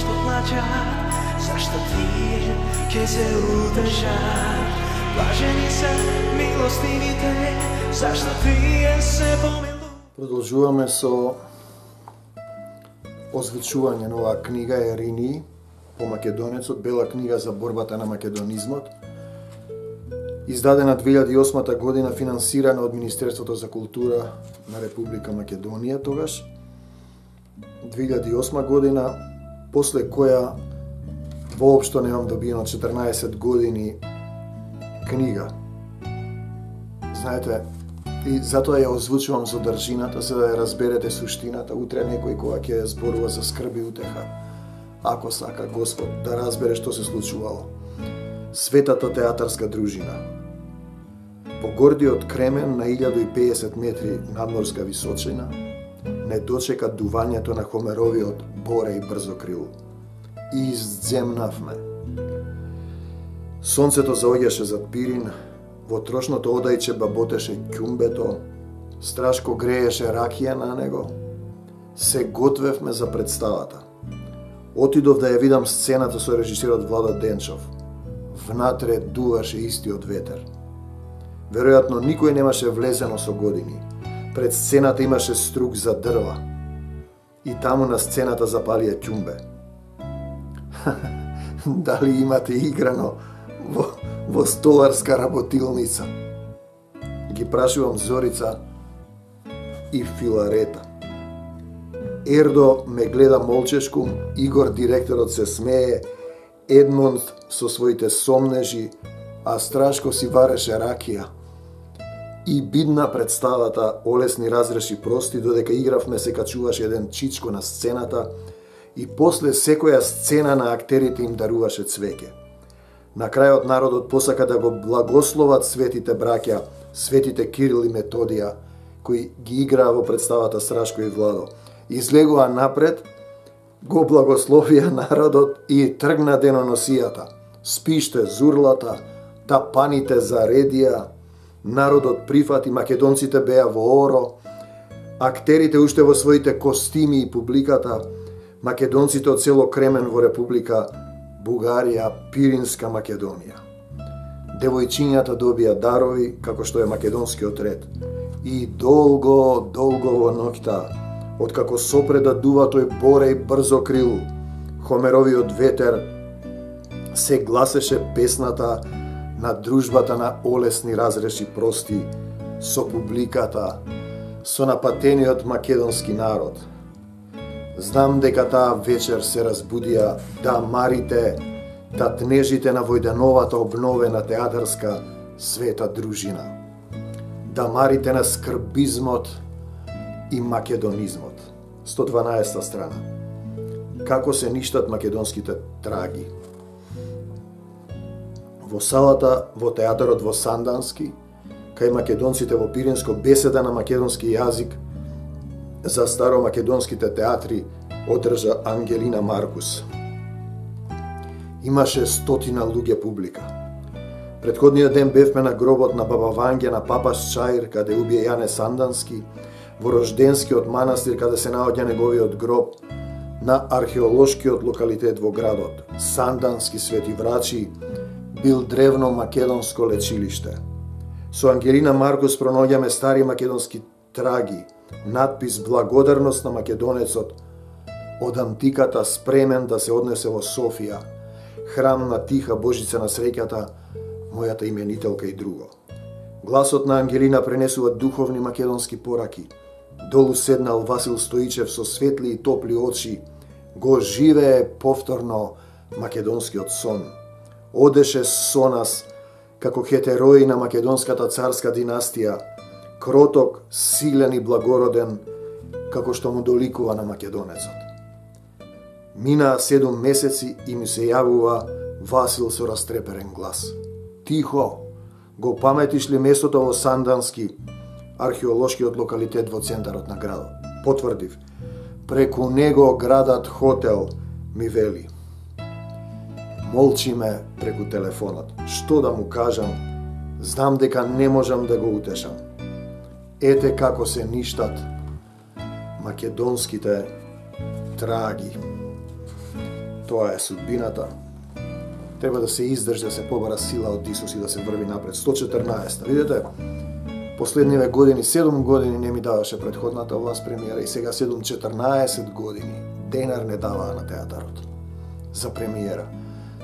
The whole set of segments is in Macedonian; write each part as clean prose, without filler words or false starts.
поплачат, зашто тие ќе се удржат. Блажени се милостивите, зашто тие се помилуваат. Продолжуваме со озвучување на оваа книга Еринии по македонецот, бела книга за борбата на македонизмот, издадена 2008 година, финансирана од Министерството за култура на Република Македонија тогаш. 2008 година, после која воопшто немам добиено 14 години книга. Знаете, и затоа ја озвучувам содржината, за да ја разберете суштината. Утре некој кога ќе зборува за скрб и утеха, ако сака Господ да разбере што се случувало. Светата театарска дружина. По гордиот Кремен на 1050 метри надморска височина не дочека дувањето на Хомеровиот Боре и Брзокрил. И изземнавме. Сонцето заоѓаше зад Пирин, во трошното одајче баботеше ќумбето, страшко грееше ракија на него. Се готвевме за представата. Отидов да ја видам сцената со режисерот Владо Денчов. Внатре дуваше истиот ветер. Веројатно никој немаше влезено со години. Пред сцената имаше струк за дрва. И таму на сцената запалија ќумбе. Дали имате играно во столарска работилница? Ги прашувам Зорица и Филарета. Ердо ме гледа молчешку, Игор директорот се смее, Едмонд со своите сомнежи, а Страшко си вареше ракија. И бидна представата Олесни разреши прости, додека игравме се качуваше еден чичко на сцената и после секоја сцена на актерите им даруваше цвеќе. На крајот народот посака да го благословат светите браќа, светите Кирил и Методија, кои ги играа во представата Страшко и Владо. Излегува напред, го благословија народот и тргна деноносијата. Спиште зурлата, тапаните заредија, народот прифати, македонците беа во оро, актерите уште во своите костими и публиката, македонците од село Кремен во Република Бугарија, Пиринска Македонија. Девојчињата добија дарови, како што е македонскиот ред. И долго во ноќта, откако сопреда дува тој Боре и Брзокрил, Хомеровиот ветер, се гласеше песната на дружбата на Олесни разреши прости со публиката, со напатениот македонски народ. Знам дека таа вечер се разбудија дамарите, татнежите на војдановата обновена театарска света дружина. Дамарите на скрбизмот и македонизмот. 112 страна. Како се ништат македонските траги. Во салата во театарот во Сандански, кај македонците во Пиринско, беседа на македонски јазик за старомакедонските театри одржа Ангелина Маркус. Имаше 100 луѓе публика. Предходниот ден бевме на гробот на баба Ванѓа на Папаш Чаир, каде убие Јане Сандански, во Рожденскиот манастир, каде се наоѓа неговиот гроб, на археолошкиот локалитет во градот, Сандански Свети Врачи, бил древно македонско лечилиште. Со Ангелина Маркус пронаоѓаме стари македонски траги, надпис Благодарност на македонецот, од антиката спремен да се однесе во Софија, храм на Тиха Божица на среќата, мојата именителка и друго. Гласот на Ангелина пренесува духовни македонски пораки. Долу седнал Васил Стоичев со светли и топли очи, го живее повторно македонскиот сон. Одеше со нас како хетерои на македонската царска династија, кроток, силен и благороден, како што му доликува на македонецот. Минаа 7 месеци и ми се јавува Васил со растреперен глас. Тихо, го паметиш ли местото во Сандански, археолошкиот локалитет во центарот на градот? Потврдив. Преку него градат хотел, ми вели. Молчиме преку телефонот. Што да му кажам? Знам дека не можам да го утешам. Ете како се ништат македонските траги. Тоа е судбината. Треба да се издржи, да се побара сила од Исус и да се врви напред. 114. Видете, последниве години, 7 години не ми даваше предходната власт премиера и сега 14 години денар не даваа на театарот за премиера.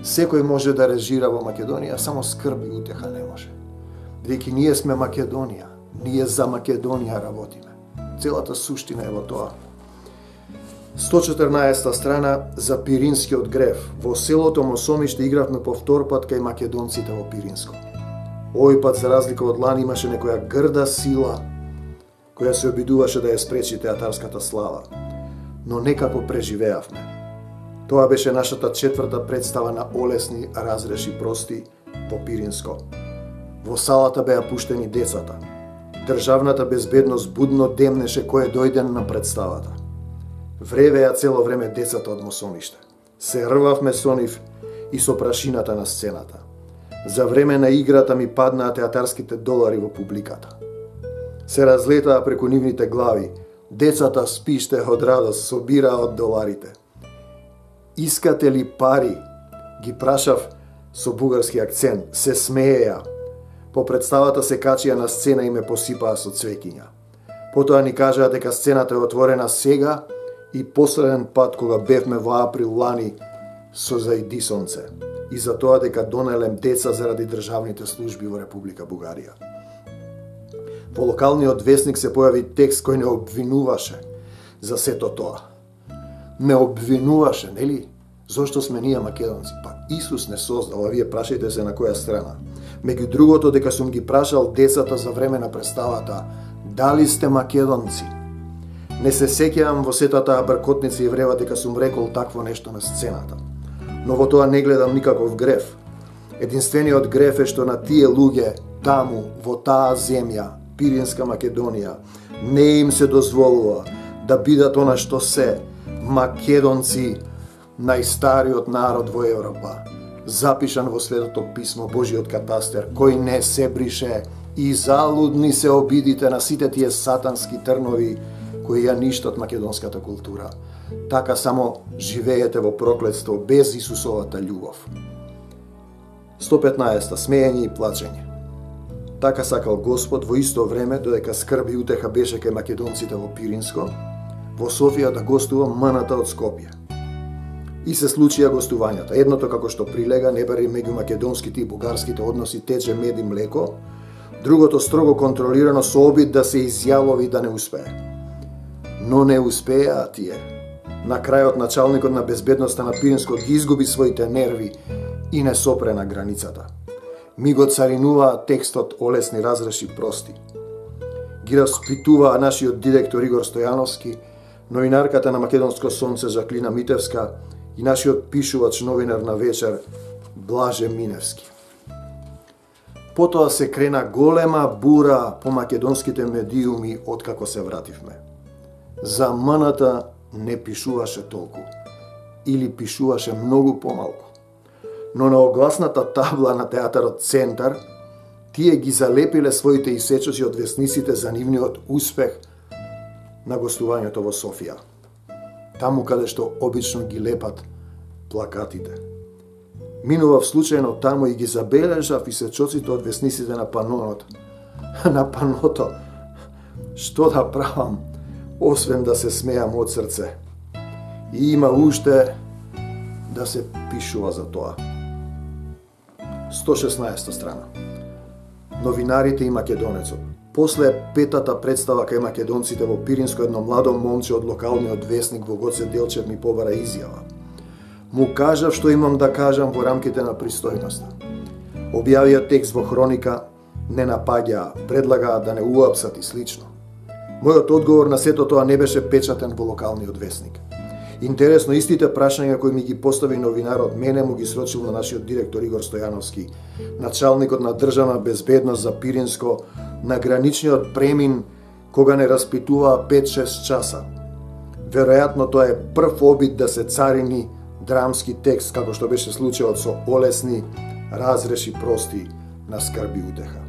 Секој може да режира во Македонија, само скрб и утеха не може. Бидејќи ние сме Македонија, ние за Македонија работиме. Целата суштина е во тоа. 114 страна за Пиринскиот грев. Во селото Мосомиште игравме по втор пат кај македонците во Пиринско. Овој пат, за разлика од лани, имаше некоја грда сила која се обидуваше да ја спречи театарската слава. Но некако преживеавме. Тоа беше нашата 4-та представа на Олесни разреши прости во Пиринско. Во салата беа пуштени децата. Државната безбедност будно демнеше кој дојде на представата. Вревеа цело време децата од Мосомиште. Се рвавме со нив и со прашината на сцената. За време на играта ми паднаа театарските долари во публиката. Се разлетаа преку нивните глави. Децата спиште од радост, собираа од доларите. Искате ли пари? Ги прашав со бугарски акцент. Се смееја. По представата се качија на сцена и ме посипаа со цвеќиња. Потоа ни кажаа дека сцената е отворена сега и последен пат кога бевме во април лани со зајди сонце. И за тоа дека донелем деца заради државните служби во Република Бугарија. Во локалниот весник се појави текст кој не обвинуваше за сето тоа. Не обвинуваше, нели? Зошто сме ние македонци? Па Исус не создал, а вие прашајте се на која страна. Меѓу другото, дека сум ги прашал децата за време на представата, дали сте македонци? Не се сеќавам во сета таа бркотница и врева дека сум рекол такво нешто на сцената. Но во тоа не гледам никаков греф. Единствениот греф е што на тие луѓе, таму, во таа земја, Пиринска Македонија, не им се дозволува да бидат она што се, македонци, најстариот народ во Европа, запишан во Светото писмо, Божиот катастер, кој не се брише, и залудни се обидите на сите тие сатански трнови кои ја ништат македонската култура. Така само живеете во проклетство без Исусовата љубов. 115. Смеење и плачење. Така сакал Господ во исто време, додека скрби и утеха беше кај македонците во Пиринско, во Софија да гостува МНТ од Скопје. И се случија гостувањата. Едното како што прилега, не бари меѓу македонските и бугарските односи тече мед и млеко, другото строго контролирано со обид да се изјавови да не успее. Но не успеа тие. На крајот началникот на безбедноста на Пиринско ги изгуби своите нерви и не сопре на границата. Ми го царинуваа текстот Олесни разреши прости. Ги распитуваа нашиот директор Игор Стојановски, новинарката на Македонско сонце Жаклина Митевска и нашиот пишувач новинар на вечер Блаже Миневски. Потоа се крена голема бура по македонските медиуми откако се вративме. За МНТ не пишуваше толку, или пишуваше многу помалку. Но на огласната табла на театарот Центар, тие ги залепиле своите исечоци од весниците за нивниот успех на гостувањето во Софија. Таму каде што обично ги лепат плакатите. Минував случајно таму и ги забележав исечоците од весниците на панонот. На паното, што да правам, освен да се смеам од срце. И има уште да се пишува за тоа. 116 страна. Новинарите и македонецот. После петата представа кај македонците во Пиринско, едно младо момче од локалниот весник во Гоце Делчев ми побара изјава. Му кажав што имам да кажам во рамките на пристојноста. Објавија текст во хроника, не напаѓаа, предлагаа да не уапсат и слично. Мојот одговор на сето тоа не беше печатен во локалниот весник. Интересно, истите прашања кои ми ги постави новинарот, мене му ги срочил на нашиот директор Игор Стојановски, началникот на државна безбедност за Пиринско, на граничниот премин, кога не распитуваа 5-6 часа. Веројатно тоа е прв обид да се царини драмски текст, како што беше случајот со Олесни разреши прости на скрби утеха.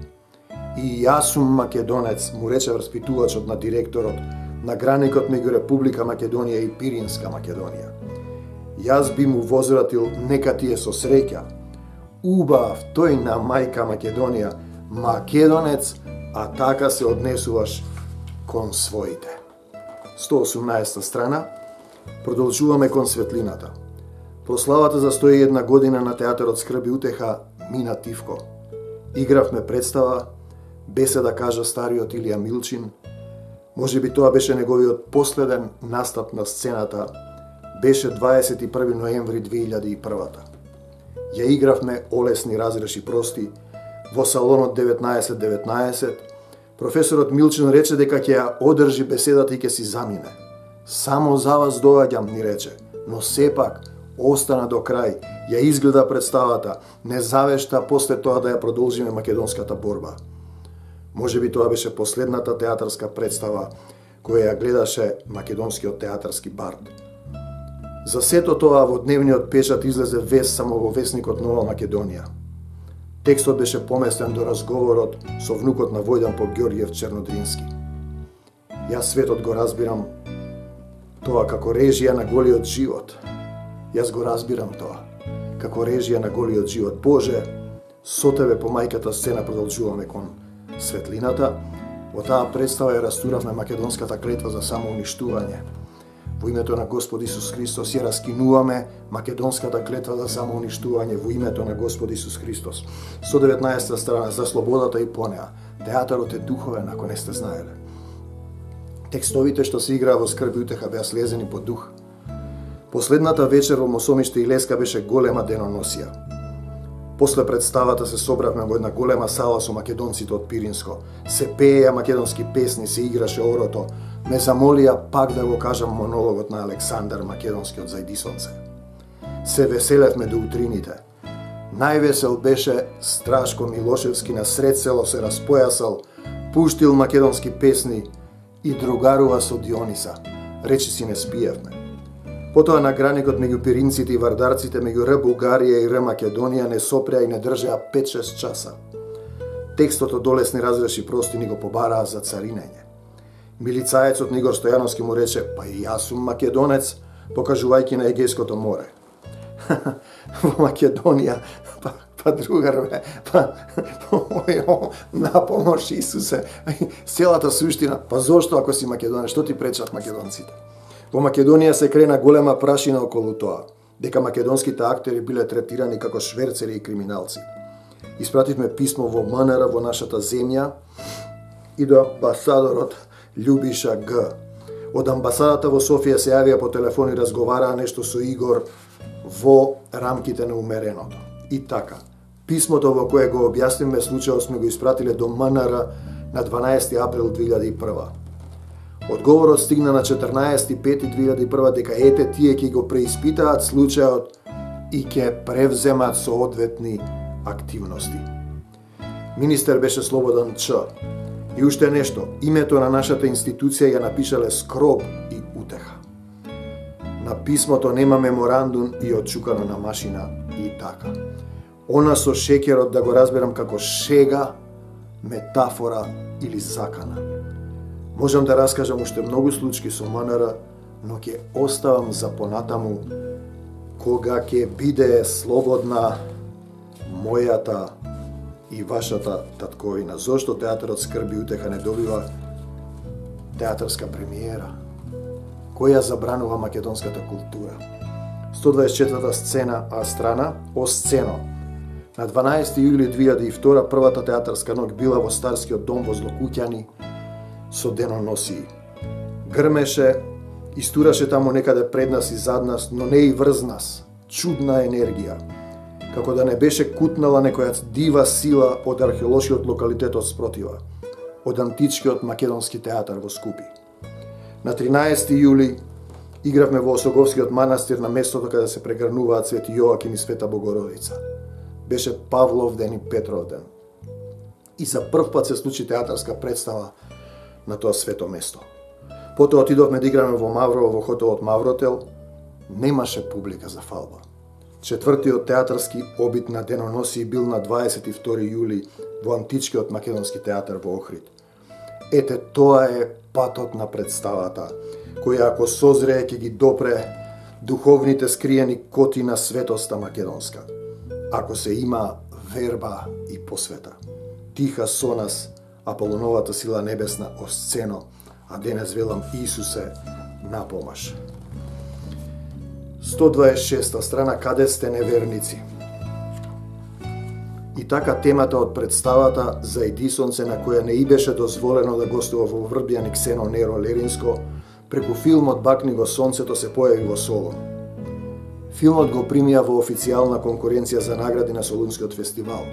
И јас сум македонец, му рече распитувачот на директорот, на граникот меѓу Република Македонија и Пиринска Македонија. Јас би му возвратил, нека ти е со среќа. Убав, тој на мајка Македонија, македонец, а така се однесуваш кон своите. 118 страна. Продолжуваме кон светлината. Прославата за 101 година на театарот Скрб и утеха мина тивко. Игравме представа, беседа кажа стариот Илија Милчин. Може би тоа беше неговиот последен настап на сцената. Беше 21 ноември 2001. Ја игравме Олесни разреши прости во салонот 1919. Професорот Милчин рече дека ќе ја одржи беседата и ќе си замине. Само за вас доаѓам, ни рече, но сепак остана до крај, ја изгледа представата, не завешта после тоа да ја продолжиме македонската борба. Може би тоа беше последната театарска представа која ја гледаше македонскиот театарски бард. За сето тоа во дневниот печат излезе вест само во весникот Нова Македонија. Текстот беше поместен до разговорот со внукот на Војдан Попѓорѓиев Чернодрински. Јас светот го разбирам тоа како режија на голиот живот. Јас го разбирам тоа како режија на голиот живот. Боже, со тебе по мајката сцена продолжуваме кон светлината. Во таа представа ја растуравме македонската клетва за самоуништување. Во името на Господ Исус Христос ја раскинуваме македонската клетва за самоуништување во името на Господ Исус Христос. 119 страна за слободата и понеа. Театарот е духовен, ако не сте знаеле. Текстовите што се играа во Скрб и утеха беа слезени по дух. Последната вечер во Мосомиште и Леска беше голема деноносија. После представата се собравме во една голема сала со македонците од Пиринско. Се пееја македонски песни, се играше орото. Ме замолија пак да го кажам монологот на Александар Македонскиот зајдисонце. Се веселевме до утрините. Највесел беше Страшко Милошевски, на сред село се распојасал, пуштил македонски песни и другарува со Диониса. Речи си не спиевме. Потоа на граникот меѓу пиринците и вардарците, меѓу Р Бугарија и Р Македонија не сопреа и не држеа 5-6 часа. Текстот од Олесни разреши прости ни го побараа за царинење. Милицаецот Нигор Стојановски му рече, па и јас сум македонец, покажувајќи на Егејското море. Во Македонија, па другарве, на помош Исусе, целата суштина, па зошто ако си македонец, што ти пречат македонците? Во Македонија се крена голема прашина околу тоа, дека македонските актери биле третирани како шверцери и криминалци. Испративме писмо во МНР во нашата земја и до амбасадорот Љубиша Г. Од амбасадата во Софија се јавија по телефон и разговараа нешто со Игор во рамките на умереното. И така, писмото во кое го објаснивме случајот сме го испратиле до МНР на 12 април 2001. Одговорот стигна на 14.5.2001 дека ете тие ќе го преиспитаат случајот и ќе превземат соодветни активности. Министер беше Слободан Ч. И уште нешто, името на нашата институција ја напишале Скроб и утеха. На писмото нема меморандум и отчукано на машина и така. Она со шекерот да го разберам како шега, метафора или закана. Можам да раскажам уште многу случаи со МНР, но ќе оставам за понатаму кога ќе биде слободна мојата и вашата татковина. Зошто театарот Скрб и утеха не добива театарска премиера? Која забранува македонската култура? 124 страна о сцено. На 12 јули 2002 првата театарска ноќ била во Старскиот дом во Злокуќани со деноносии. Грмеше, истураше таму некаде пред нас и зад нас, но не и врз нас. Чудна енергија. Како да не беше кутнала некоја дива сила од археолошкиот локалитет од спротива, од античкиот македонски театар во Скупи. На 13 јули игравме во Осоговскиот манастир на местото каде се прегрнуваат Свети Јоаким и Света Богородица. Беше Павлов ден и Петров ден. И за прв пат се случи театарска представа на тоа свето место. Потоа отидовме да играме во Маврово, во хотелот Мавротел. Немаше публика за фалба. Четвртиот театарски обид на деноносии бил на 22 јули во античкиот македонски театар во Охрид. Ете, тоа е патот на представата, која ако созрее ќе ги допре духовните скриени коти на светоста македонска, ако се има верба и посвета. Тиха со нас Аполоновата сила небесна осцено, а денес велам Исусе на помаш. 126 страна, каде сте неверници. И така темата од представата за Едисонце, на која не и беше дозволено да гостува во Врбјан и Ксено Неро Леринско, преку филмот Бакни го сонцето се појави во Солун. Филмот го примија во официјална конкуренција за награди на Солунскиот фестивал.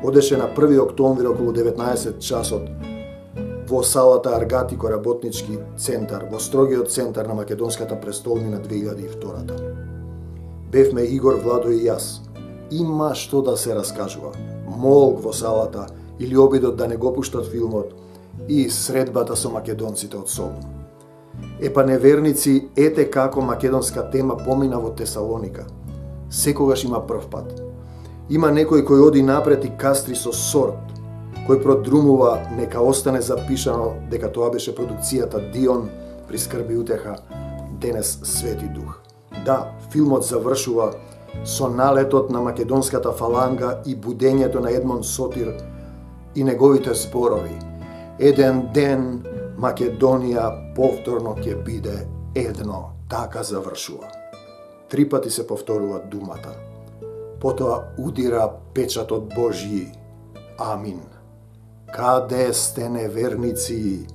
Одеше на 1 октомври околу 19 часот во салата Аргатико работнички центар, во строгиот центар на македонската престолнина 2002. Бевме Игор, Владо и јас. Има што да се раскажува. Молк во салата или обидот да не го пуштат филмот и средбата со македонците од Солун. Епа неверници, ете како македонска тема помина во Тесалоника. Секогаш има прв пат. Има некој кој оди напред и кастри со сорт, кој продрумува нека остане запишано дека тоа беше продукцијата Дион, прискрби утеха, денес Свети Дух. Да, филмот завршува со налетот на македонската фаланга и будењето на Едмон Сотир и неговите зборови. Еден ден Македонија повторно ќе биде едно. Така завршува. 3 пати се повторува думата. Потоа удира печатот Божји. Амин. Каде сте неверници?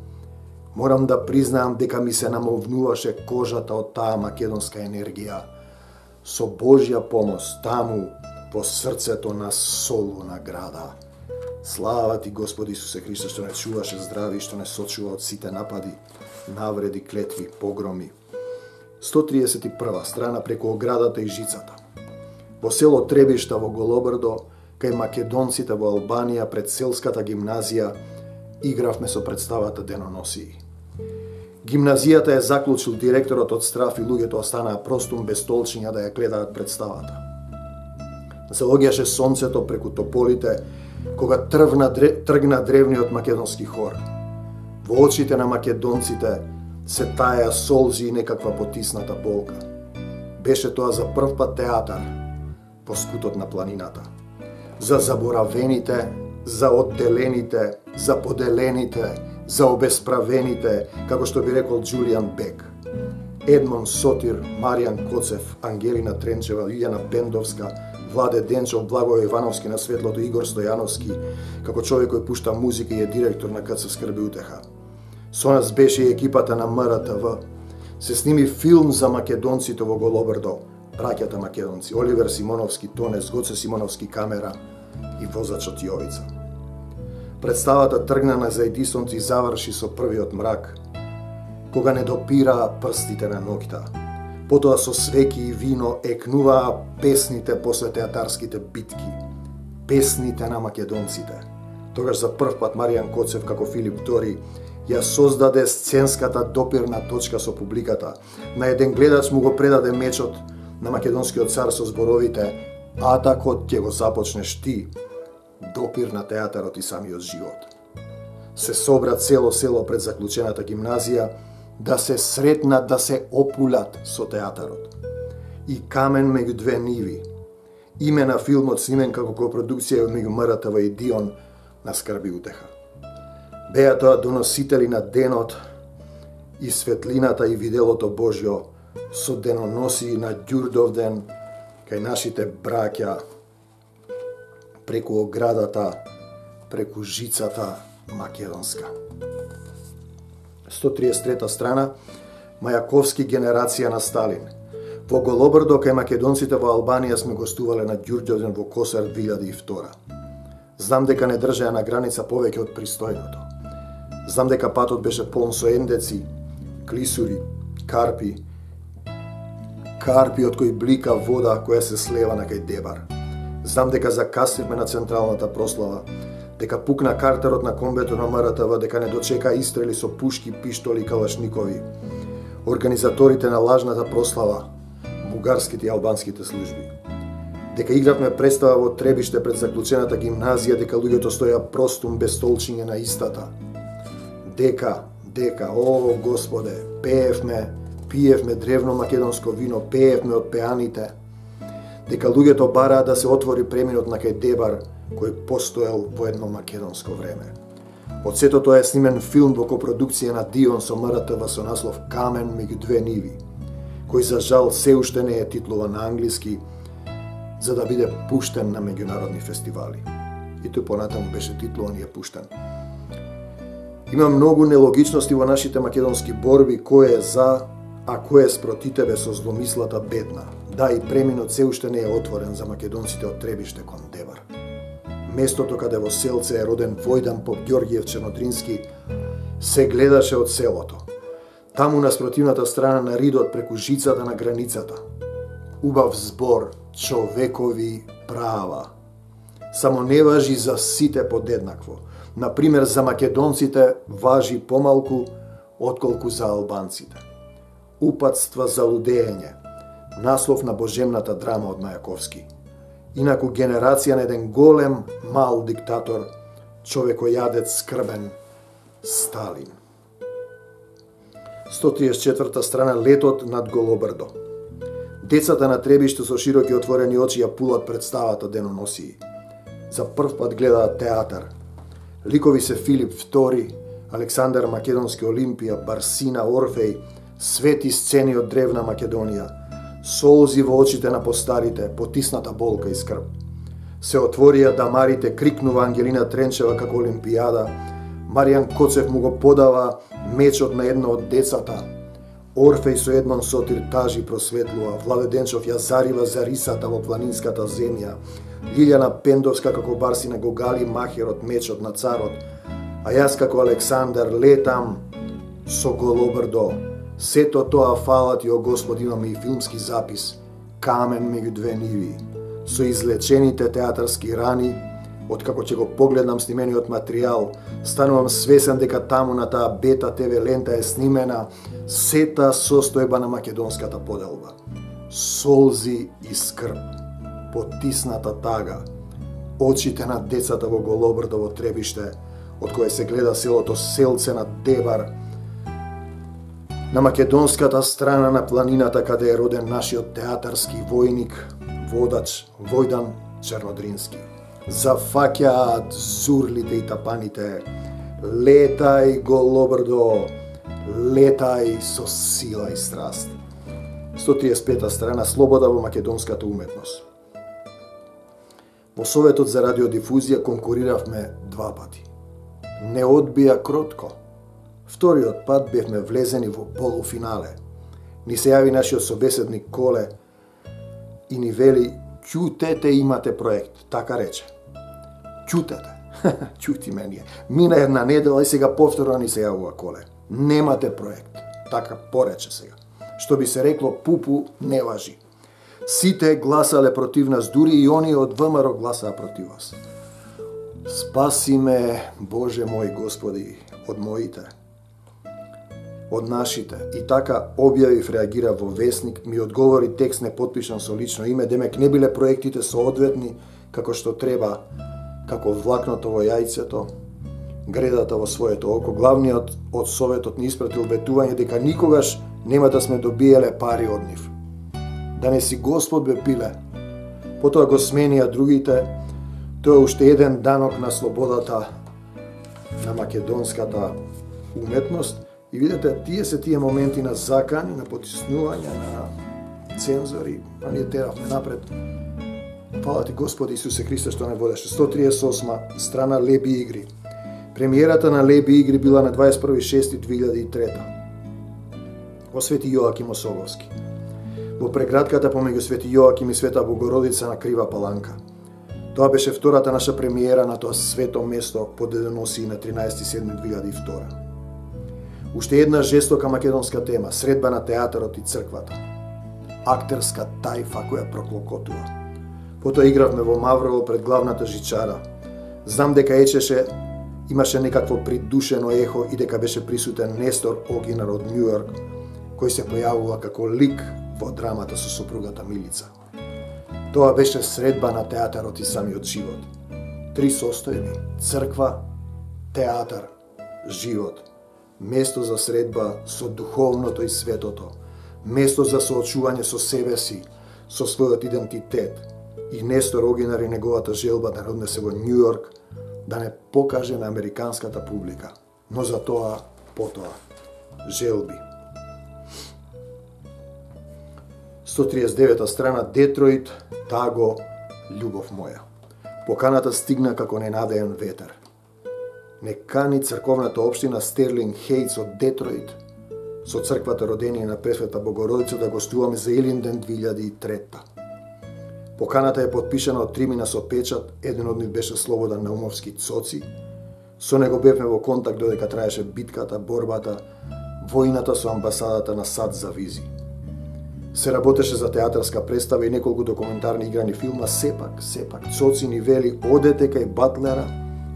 Морам да признаам дека ми се намовнуваше кожата од таа македонска енергија. Со Божја помош таму, по срцето на Солуна града. Слава ти, Господи Исусе Христе, што не чуваше здрави, што не сочува од сите напади, навреди, клетви, погроми. 131 страна, преку оградата и жицата. Во село Требишта во Голобрдо, кај македонците во Албанија пред селската гимназија, игравме со представата деноносии. Гимназијата е заклучил директорот од страв и луѓето останаа простум без столчиња да ја гледаат представата. Залоѓаше сонцето преку тополите, кога тргна древниот македонски хор. Во очите на македонците се таја солзи и некаква потисната болка. Беше тоа за прв пат театар по скутот на планината. За заборавените, за одделените, за поделените, за обесправените, како што би рекол Џулијан Бек. Едмон Сотир, Маријан Коцев, Ангелина Тренчева, Илјана Пендовска, Владе Денчов, Благој Ивановски на светлото, Игор Стојановски, како човек кој пушта музика и е директор на КЦ Скрби утеха. Со нас беше и екипата на МРТВ. Се сними филм за македонците во Голобрдо, браќата македонци, Оливер Симоновски, Тонес, Гоце Симоновски, камера и возачот Јовица. Представата тргнана за Едисонци заврши со првиот мрак, кога не допира прстите на ноќта. Потоа со свеки и вино екнуваа песните после театарските битки, песните на македонците. Тогаш за прв пат Маријан Коцев како Филип II ја создаде сценската допирна точка со публиката. На еден гледач му го предаде мечот на македонскиот цар со зборовите "Атакот ќе го започнеш ти", допир на театарот и самиот живот. Се собра цело село пред заклучената гимназија да се сретнат, да се опулат со театарот. И камен меѓу две ниви. Име на филмот снимен како копродукција меѓу МРТВ и Дион на Скрби утеха. Беа тоа доносители на денот и светлината и виделото Божјо со деноносии на Ѓурдовден кај нашите браќа преку оградата, преку жицата македонска. 133 страна, Мајаковски, генерација на Сталин. Во Голобрдо кај македонците во Албанија сме гостувале на Ѓурѓовден во Косар 2002. Знам дека не држеа на граница повеќе од пристојното. Знам дека патот беше полн со ендеци, клисури, карпи од кои блика вода која се слева на кај Дебар. Знам дека закаснивме на централната прослава, дека пукна картерот на комбето на МРТВ, дека не дочека истрели со пушки, пиштоли и калашникови. Организаторите на лажната прослава, бугарските и албанските служби. Дека игравме представа во Требиште пред заклучената гимназија, дека луѓето стоја простум без столчиња на истата. Дека, о Господе, пиевме древно македонско вино, пеевме од пеаните, дека луѓето бараат да се отвори преминот на кај Дебар, кој постоел во едно македонско време. Од сето тоа е снимен филм во копродукција на Дион со МРТВ со наслов Камен меѓу две ниви, кој за жал се уште не е титлуван на англиски, за да биде пуштен на меѓународни фестивали. И тој понатаму беше титлуван и е пуштен. Има многу нелогичности во нашите македонски борби, кој е за, а кој е спроти тебе со зломислата бедна. Да, и преминот се уште не е отворен за македонците од Требиште кон Дебар. Местото каде во селце е роден Војдан Поп Ѓорѓиев Чернодрински се гледаше од селото. Таму на спротивната страна на ридот преку жицата на границата. Убав збор, човекови права. Само не важи за сите подеднакво. Например, за македонците важи помалку отколку за албанците. Упатства за лудење. Наслов на божемната драма од Мајаковски. Инаку генерација на еден голем, мал диктатор, човекојадец скрбен, Сталин. 134 страна Летот над Голобрдо. Децата на Требиште со широки отворени очи ја пулат представата деноносии. За прв пат гледаат театар. Ликови се Филип II, Александар Македонски Олимпија, Барсина, Орфеј, свети сцени од древна Македонија, солзи во очите на постарите, потисната болка и скрб. Се отворија дамарите, крикнува Ангелина Тренчева како Олимпијада, Маријан Коцев му го подава мечот на едно од децата, Орфеј со Едмон Сотир тажи просветлува, Владе Денчов ја зарива за рисата во планинската земја, Лилјана Пендовска како Барсина го гали махерот мечот на царот, а јас како Александар летам со Голобрдо. Сето тоа фала ти, о Господи, имаме и филмски запис, Камен меѓу две ниви, со излечените театарски рани. Откако ќе го погледнам снимениот материјал, станувам свесен дека таму на таа бета ТВ лента е снимена сета состојба на македонската поделба. Солзи и скрб, потисната тага, очите на децата во Голобрдо во Требиште, од кое се гледа селото Селце на Дебар, на македонската страна на планината каде е роден нашиот театарски војник, водач Војдан Чернодрински. Зафаќаат зурлите и тапаните, летај Голобрдо, летај со сила и страст. 135 страна Слобода во македонската уметност. Во Советот за радиодифузија конкуриравме два пати. Не одбија кротко. Вториот пат бевме влезени во полуфинале. Ни се јави нашиот собеседник Коле и ни вели: "Ќутете, имате проект", така рече. Ќутете. Ќути мене. Мина една недела и сега повторно ни се јавува Коле. Немате проект. Така порече сега. Што би се рекло, пупу не важи. Сите гласале против нас, дури и оние од ВМРО гласаа против вас. Спаси ме, Боже мој Господи, од моите, од нашите. И така објавив, реагира во Весник, ми одговори текст непотпишан со лично име, демек не биле проектите соодветни како што треба, како влакното во јајцето, гредата во своето око. Главниот од Советот ни испратил ветување дека никогаш нема да сме добиеле пари од нив. Да не си Господ бе пиле. Потоа го сменија другите. Тоа е уште еден данок на слободата на македонската уметност. И видите, тие се тие моменти на закани, на потиснување, на цензори, а ние теравме напред. Фала ти Господи Исусе Христе што не водеше. 138 страна Леби игри. Премиерата на Леби игри била на 21.6.2003 во Свети Јоаким Осоговски, во преградката помеѓу Свети Јоаким и Света Богородица на Крива Паланка. Тоа беше втората наша премиера на тоа свето место по деноносии на 13.7.2002. Уште една жестока македонска тема, средба на театарот и црквата. Актерска тајфа која проклокотува. Потоа игравме во Маврово пред главната жичара. Знам дека имаше некакво придушено ехо и дека беше присутен Нестор Огинар од Њујорк, кој се појавува како лик во драмата со сопругата Милица. Тоа беше средба на театарот и самиот живот. Три состојби: црква, театар, живот. Место за средба со духовното и светото, место за соочување со себе си, со својот идентитет. И Нестор Огинар и неговата желба да не однесе во Њу Јорк, да не покаже на американската публика, но за тоа потоа желби. 139 страна, Детройт, Таго, љубов моја. Поканата стигна како ненадеен ветер. Не кани црковната општина Стерлинг Хејтс од Детройт со црквата Родение на Пресвета Богородица да гостуваме за Илинден 2003. Поканата е подпишана од тримина со печат, еден од нив беше Слободан Наумовски Цоци. Со него бевме во контакт додека траеше битката, борбата, војната со амбасадата на САД за визи. Се работеше за театарска представа и неколку документарни играни филма, сепак, Цоци ни вели одете кај Батлера,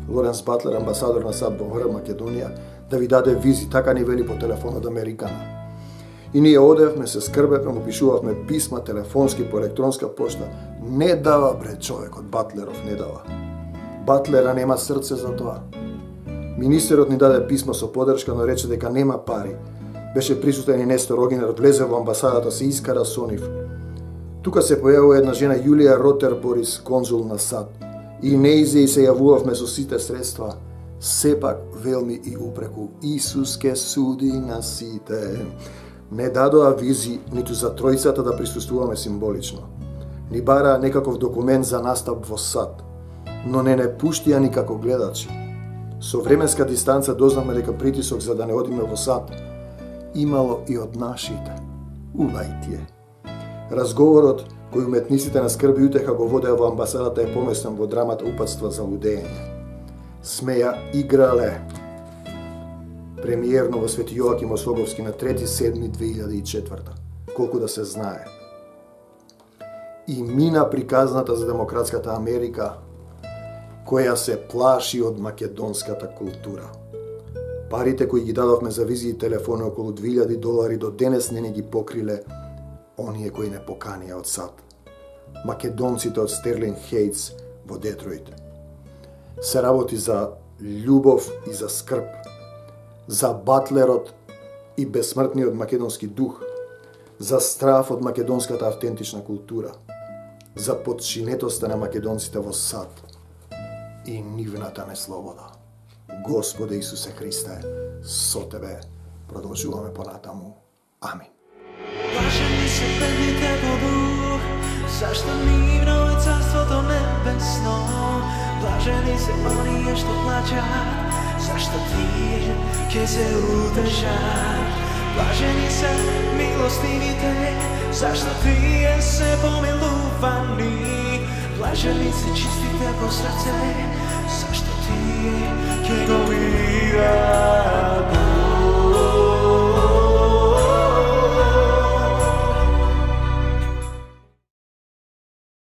Лоренс Батлер, амбасадор на САД во Македонија, да ви даде визи, така ни вели по телефон од Американа. И ние одевме, се скрбевме, му пишувавме писма, телефонски, по електронска пошта. Не дава, бре, човекот, Батлеров не дава. Батлера нема срце за тоа. Министерот ни даде писмо со поддршка, но рече дека нема пари. Беше присутен и Нестор Огинар, влезе во амбасадата, се искара со нив. Тука се појавува една жена, Јулија Ротер Борис, конзул на САД. И неизе и се јавувавме со сите средства. Сепак, велми и упреку, Исус ке суди на сите. Не дадоа визи ниту за тројцата да присуствуваме символично. Ни бараа некаков документ за настап во САД, но не пуштија ни како гледачи. Со временска дистанца дознавме дека притисок за да не одиме во САД имало и од нашите.Увајтие. Разговорот кој уметниците на скрби и утеха го водеа во амбасадата е поместен во драмата Упатства за лудење. Смеја играле. Премиерно во Свети Јоаким Ослоговски на 3.7.2004. Колку да се знае. И мина приказната за демократската Америка, која се плаши од македонската култура. Парите кои ги дадовме за визи и телефони, околу $2,000, до денес не ги покриле оние кои не поканија од САД. Македонците од Стерлинг Хејтс во Детройт. Се работи за љубов и за скрб, за Батлерот и безсмртниот македонски дух, за страв од македонската автентична култура, за подчинетоста на македонците во САД и нивната неслобода. Господе Исусе Христе, со Тебе продолжуваме понатаму. Амин. Блажени се бедните по дух, зашто нивно е царството небесно. Блажени се оние што плачат, зашто тие ќе се утешат. Блажени се милостивите, зашто тие се помилувани. Блажени се чистите по срце, зашто тие ќе го видат.